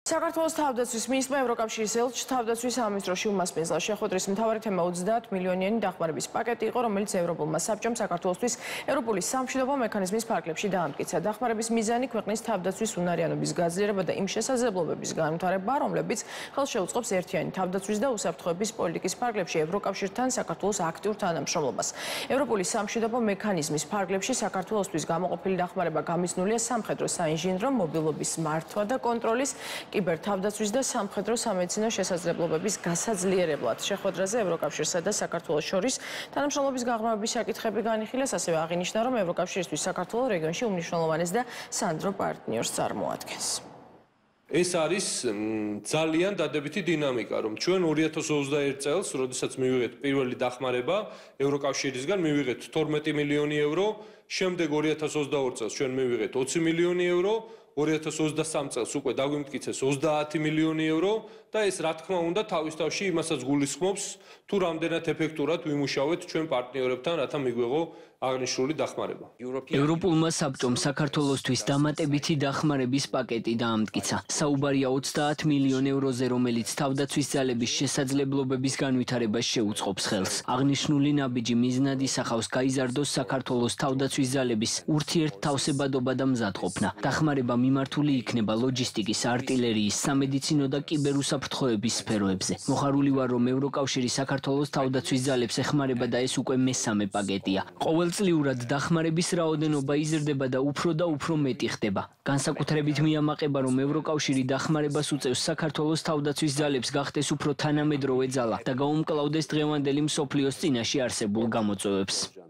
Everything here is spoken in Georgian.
საქართველოს თავდაცვის მინისტრმა ევროკავშირის ელჩ თავდაცვის სამინისტროში უმასპინძლა შეხვედრის მთავარი თემა 30 მილიონიანი დახმარების პაკეტი იყო, რომელიც ევროპულმა საბჭომ საქართველოსთვის ევროპული სამშვიდობო მექანიზმის ფარგლებში დაამტკიცა. დახმარების მიზანი ქვეყნის თავდაცვის უნარიანობის გაძლიერება და იმ შესაძლებლობების განვითარება, რომლებიც ხელს შეუწყობს ერთიანი თავდაცვის და უსაფრთხოების პოლიტიკის ფარგლებში ევროკავშირთან საქართველოს აქტიურ თანამშრომლობას. ევროპული სამშვიდობო მექანიზმის ფარგლებში საქართველოსთვის გამოყოფილი დახმარება გამიზნულია სამხედრო საინჟინრო მობილობის მართვა და კონტროლის კიბერთავდაცვის და სამხედრო სამედიცინო შესაძლებლობების გასაძლიერებლად. შეხვედრაზე ევროკავშირსა და საქართველოს შორის თანამშრომლობის გაღრმავების საკითხები განიხილეს, ასევე აღინიშნა, რომ ევროკავშირისთვის საქართველოს რეგიონში უმნიშვნელოვანეს და სანდრო პარტნიორს წარმოადგენს. ეს არის ძალიან დადებითი დინამიკა, რომ ჩვენ 2021 წელს, როდესაც მივიღეთ პირველი დახმარება ევროკავშირისგან, მივიღეთ 12 მილიონი ევრო, შემდეგ 2022 წელს ჩვენ მივიღეთ 20 მილიონი ევრო, 2023 წელს უკვე დაგვიმტკიცეს 30 მილიონი ევრო და ეს რა თქმა უნდა თავის თავში იმასაც გულისხმობს, თუ რამდენად ეფექტურად ვიმუშავეთ ჩვენ პარტნიორებთან, რათა მიგვეღო აღნიშნული დახმარება. ევროპულმა საბჭომ საქართველოსთვის დამატებითი დახმარების პაკეტი დაამტკიცა. საუბარია 30 მილიონ ევროზე, რომელიც თავდაცვის ძალების შესაძლებლობების განვითარებას შეუწყობს ხელს. აღნიშნული ნაბიჯი მიზნად ისახავს გაიზარდოს საქართველოს თავდაცვის ძალების ურთიერთთავსებადობა და მზადყოფნა. დახმარება მიმართული იქნება ლოჯისტიკის, არტილერიის, სამედიცინო და კიბერუსაფრთხოების სფეროებზე. მოხარული ვარ, რომ ევროკავშირი საქართველოს თავდაცვის ძალებს ეხმარება და ეს უკვე მესამე პაკეტია. ყოველწლიურად დახმარების რაოდენობა იზრდება და უფრო მეტი ხდება. განსაკუთრებით მიამაყება, რომ ევროკავშირი დახმარებას უწევს საქართველოს თავდაცვის ძალებს გახდეს უფრო თანამედროვე ძალა და გაუმკლავდეს დღევანდელი მსოფლიოს წინაშე არსებულ გამოწვევებს.